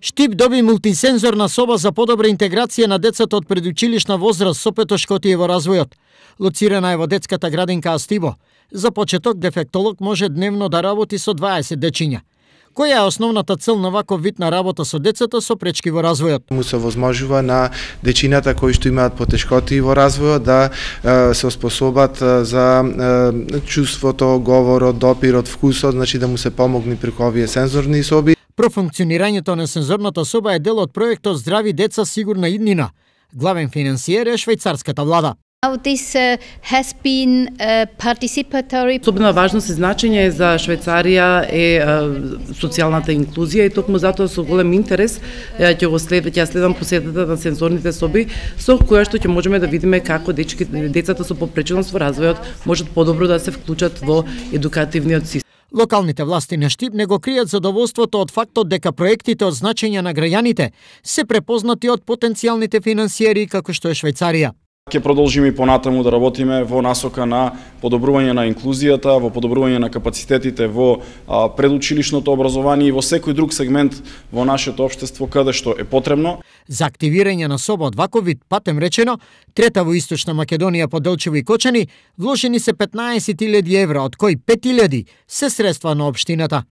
Штип доби мултисензорна соба за подобра интеграција на децата од предучилишна возраст со петошкотија во развојот. Лоцирана е во детската градинка Астибо. За почеток, дефектолог може дневно да работи со 20 дечиња. Која е основната цел на ваков вид на работа со децата со пречки во развојот? Му се возможува на дечината кои што имаат потешкоти во развојот да се оспособат за чувството, говорот, допирот, вкусот, значи да му се помогне преку овие сензорни соби. Профункционирањето на сензорната соба е дел од проектот Здрави деца сигурна иднина. Главен финансиер е швајцарската влада. This has been participatory. Особена важност и значење за Швајцарија е социјалната инклузија и токму затоа со голем интерес ќе следам посетата на сензорните соби со која што ќе можеме да видиме како децата со попреченост во развојот можат подобро да се вклучат во едукативниот систем. Локалните власти на Штип не го кријат задоволството од фактот дека проектите од значење на граѓаните се препознати од потенцијалните финансиери како што е Швајцарија. Ќе продолжиме и понатаму да работиме во насока на подобрување на инклузијата, во подобрување на капацитетите во предучилишното образование и во секој друг сегмент во нашето општество каде што е потребно. За активирање на соба од ваков вид, патем речено, трета во Источна Македонија по Делчево и Кочани, вложени се 15.000 евра, од кои 5.000 се средства на општината.